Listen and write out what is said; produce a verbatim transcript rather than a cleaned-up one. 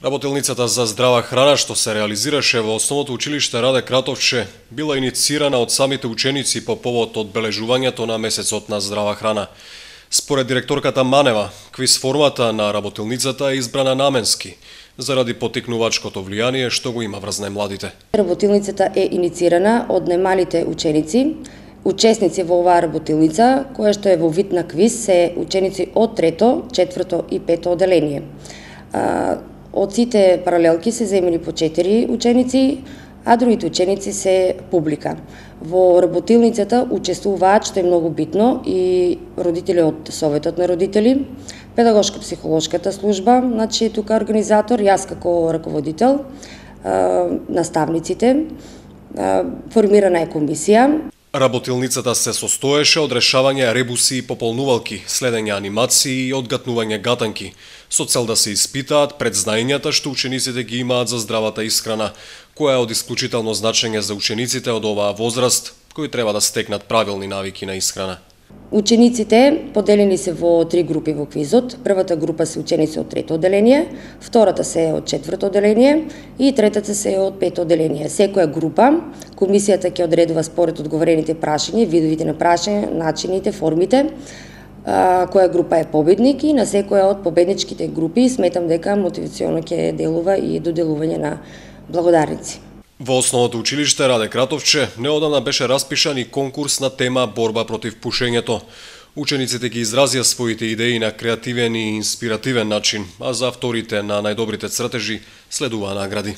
Работилницата за здрава храна што се реализираше во Основното училиште Раде Кратовче била инициирана од самите ученици по повод одбележувањето на месецот на здрава храна. Според директорката Манева, квиз формата на работилницата е избрана наменски, заради потикнувачкото влијание што го има врз најмладите. Работилницата е инициирана од најмалите ученици. Учесници во оваа работилница, која што е во вид на квиз, се ученици од трето, четврто и пето оделение. Од сите паралелки се земени по четири ученици, а другите ученици се публика. Во работилницата учествуваат, што е многу битно, и родители од Советот на родители, педагошко-психолошката служба, значи тука организатор, јас како раководител, наставниците, формирана е комисија. Работилницата се состоеше од решавање ребуси и пополнувалки, следење анимации и одгатнување гатанки, со цел да се испитаат предзнаењата што учениците ги имаат за здравата исхрана, која е од исклучително значење за учениците од оваа возраст, кои треба да стекнат правилни навики на исхрана. Учениците поделени се во три групи во квизот. Првата група се ученици од трето оделение, втората се од четврто оделение и третата се од пето оделение. Секоја група, комисијата ќе одредува според одговорените прашања, видовите на прашање, начините, формите, која група е победник, и на секоја од победничките групи сметам дека мотивационо ќе делува и доделување на благодарници. Во Основното училиште Раде Кратовче неодамна беше распишан и конкурс на тема борба против пушењето. Учениците ги изразија своите идеи на креативен и инспиративен начин, а за авторите на најдобрите цртежи следуваа награди.